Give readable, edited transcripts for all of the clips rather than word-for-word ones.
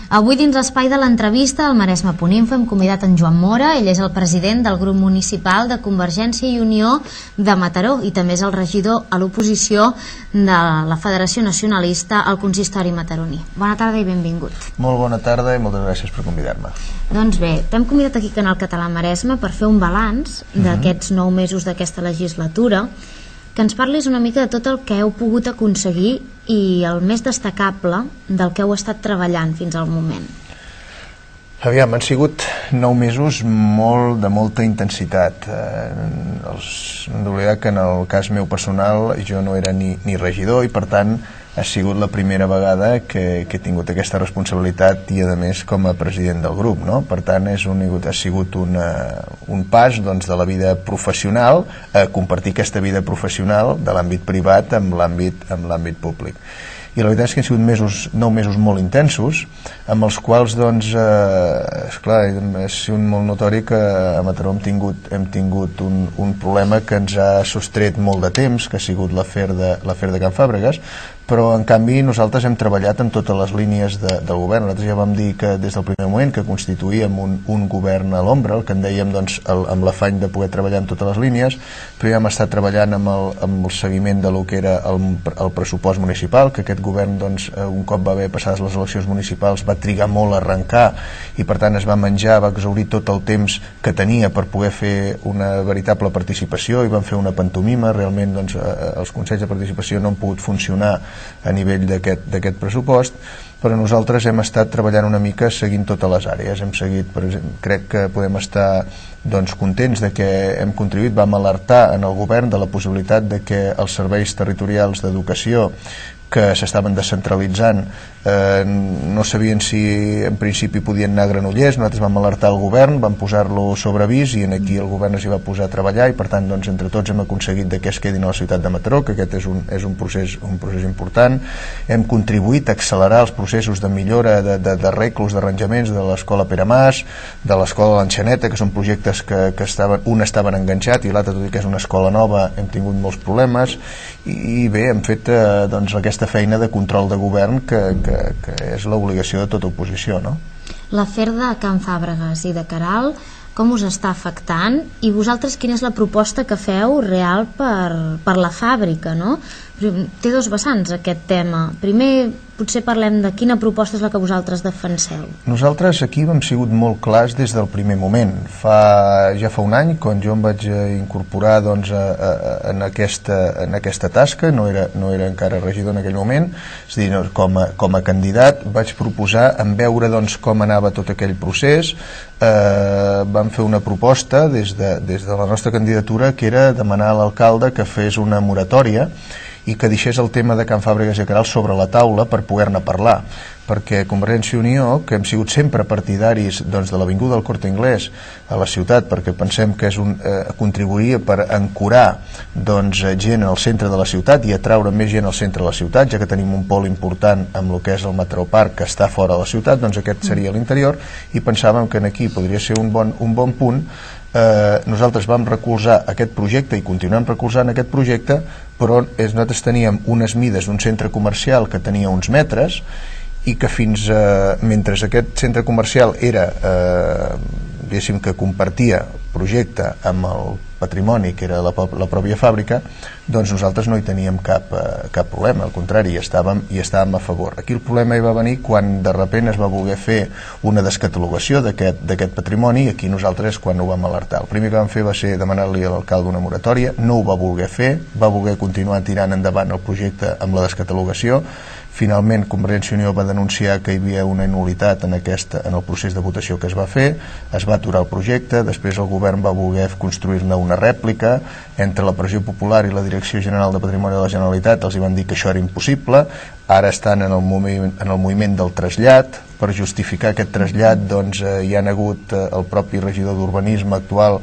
Avui dins l'espai de l'entrevista al Maresme.info hem convidat en Joan Mora. Ell és el president del grup municipal de Convergència i Unió de Mataró i també és el regidor a l'oposició de la Federació Nacionalista al Consistori Mataroní. Bona tarda i benvingut. Molt bona tarda i moltes gràcies per convidar-me. Doncs bé, t'hem convidat aquí al Canal Català Maresme per fer un balanç d'aquests 9 mesos d'aquesta legislatura, que ens parlis una mica de tot el que heu pogut aconseguir i el més destacable del que heu estat treballant fins al moment. Aviam, han sigut 9 mesos de molta intensitat. Hem d'oblidar que en el cas meu personal jo no era ni regidor i per tant ha sigut la primera vegada que he tingut aquesta responsabilitat i a més com a president del grup, no? Per tant ha sigut un pas de la vida professional a compartir aquesta vida professional de l'àmbit privat amb l'àmbit públic. I la veritat és que han sigut 9 mesos molt intensos, amb els quals, esclar, ha sigut molt notori que a Mataró hem tingut un problema que ens ha sostret molt de temps, que ha sigut l'afer de Can Fàbregas, però en canvi nosaltres hem treballat en totes les línies del govern. Nosaltres ja vam dir que des del primer moment que constituíem un govern a l'ombra, el que en dèiem amb l'afany de poder treballar en totes les línies, però ja hem estat treballant amb el seguiment de lo que era el pressupost municipal, que aquest govern un cop va haver passades les eleccions municipals va trigar molt a arrencar i per tant es va exhaurir tot el temps que tenia per poder fer una veritable participació i van fer una pantomima. Realment els consells de participació no han pogut funcionar a nivell d'aquest pressupost, però nosaltres hem estat treballant una mica seguint totes les àrees. Hem seguit, per exemple, crec que podem estar contents de que hem contribuït, vam alertar en el govern de la possibilitat de que els serveis territorials d'educació que s'estaven descentralitzant no sabien si en principi podien anar a Granollers. Nosaltres vam alertar el govern, vam posar-lo sobre avís i aquí el govern s'hi va posar a treballar i per tant entre tots hem aconseguit que es quedin a la ciutat de Mataró, que aquest és un procés important. Hem contribuït a accelerar els processos de millora d'arreglos, d'arranjaments de l'escola Pere Mas, de l'escola L'Enxaneta, que són projectes que un estaven enganxat i l'altre, tot i que és una escola nova, hem tingut molts problemes i bé, hem fet aquesta feina de control de govern que és l'obligació de tota oposició, no? L'afer de Can Fàbregas i de Caral, com us està afectant? I vosaltres quina és la proposta que feu real per la fàbrica, no? Té dos vessants aquest tema. Primer potser parlem de quina proposta és la que vosaltres defenseu. Nosaltres aquí hem sigut molt clars des del primer moment. Ja fa un any, quan jo em vaig incorporar en aquesta tasca, no era encara regidor en aquell moment, és a dir, com a candidat vaig proposar en veure com anava tot aquell procés. Vam fer una proposta des de la nostra candidatura que era demanar a l'alcalde que fes una moratòria i que deixés el tema de Can Fàbregas i Caral sobre la taula per poder-ne parlar, perquè Convergència i Unió, que hem sigut sempre partidaris de l'avinguda del Corte Inglés a la ciutat, perquè pensem que contribuiria per ancorar gent al centre de la ciutat i atraure més gent al centre de la ciutat, ja que tenim un pol important amb el que és el Mataró Park, que està fora de la ciutat, aquest seria l'interior, i pensàvem que aquí podria ser un bon punt. Nosaltres vam recolzar aquest projecte i continuem recolzant aquest projecte, però nosaltres teníem unes mides d'un centre comercial que tenia uns metres i que mentre aquest centre comercial era, diguéssim, que compartia projecte amb el patrimoni que era la pròpia fàbrica, doncs nosaltres no hi teníem cap problema, al contrari, hi estàvem a favor. Aquí el problema hi va venir quan de sobte es va voler fer una descatalogació d'aquest patrimoni i aquí nosaltres quan ho vam alertar. El primer que vam fer va ser demanar-li a l'alcalde una moratòria, no ho va voler fer, va voler continuar tirant endavant el projecte amb la descatalogació. Finalment Convergència i Unió va denunciar que hi havia una nul·litat en el procés de votació que es va fer, es va aturar el projecte, després el govern va voler construir-ne una rèplica, entre la pressió popular i la Direcció General de Patrimoni de la Generalitat els hi van dir que això era impossible. Ara estan en el moviment del trasllat. Per justificar aquest trasllat hi ha hagut el propi regidor d'Urbanisme actual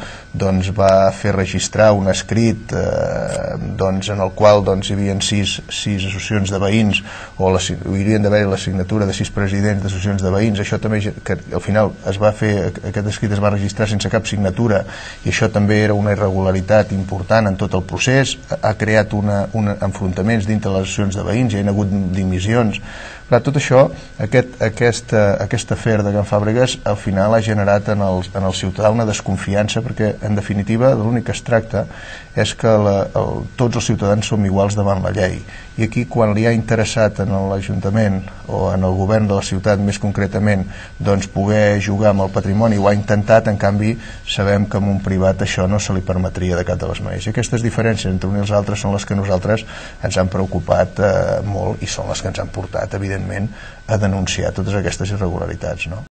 va fer registrar un escrit en el qual hi havia 6 associacions de veïns o haurien d'haver la signatura de 6 presidents d'associacions de veïns. Això també, que al final aquest escrit es va registrar sense cap signatura i això també era una irregularitat important en tot el procés. Ha creat enfrontaments dintre les associacions de veïns, hi ha hagut dimissions Clar, tot això, aquest afer de Can Fàbregas al final ha generat en el ciutadà una desconfiança, perquè en definitiva l'únic que es tracta és que tots els ciutadans som iguals davant la llei, i aquí quan li ha interessat en l'Ajuntament o en el govern de la ciutat més concretament doncs poder jugar amb el patrimoni, ho ha intentat. En canvi sabem que en un privat això no se li permetria de cap de les maneres, i aquestes diferències entre uns i els altres són les que nosaltres ens han preocupat molt, i són les que ens han portat evidentment a denunciar totes aquestes irregularitats, no?